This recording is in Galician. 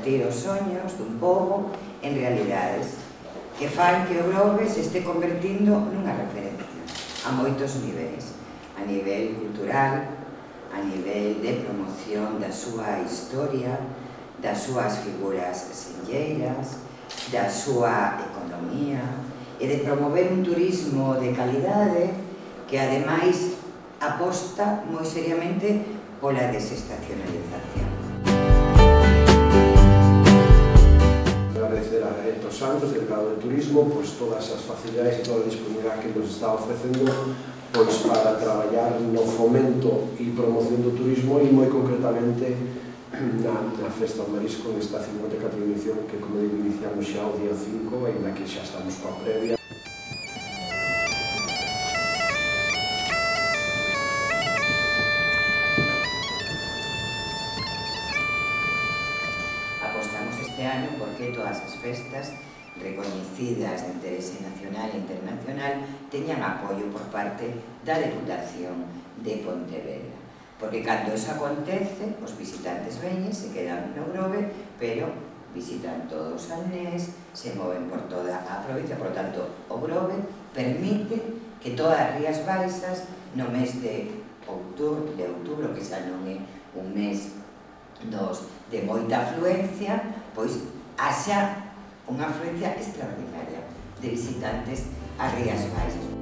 convertir os soños dun pobo en realidades, que fan que o Grove se este convertindo nunha referencia a moitos niveis, a nivel cultural, a nivel de promoción da súa historia, das súas figuras senlleiras, da súa economía e de promover un turismo de calidade que ademais aposta moi seriamente pola desestacionalización. Agradecer a Gaeta Santos, delegado de Turismo, todas as facilidades e toda a disponibilidade que nos está ofrecendo para traballar no fomento e promoción do turismo e moi concretamente na Festa do Marisco nesta 54ª edición que, como digo, iniciamos xa o día 5, ainda que xa estamos coa previa. Apostamos este ano porque todas as festas recoñecidas de interese nacional e internacional teñan apoio por parte da Deputación de Pontevedra. Porque cando iso acontece, os visitantes veñen, se quedan no Grove, pero visitan todo o Salnés, se moven por toda a provincia, por lo tanto, o Grove permite que todas as Rías Baixas, no mes de outubro, que xa non é un mes de moita afluencia, pois haxa unha afluencia extraordinaria de visitantes ás Rías Baixas.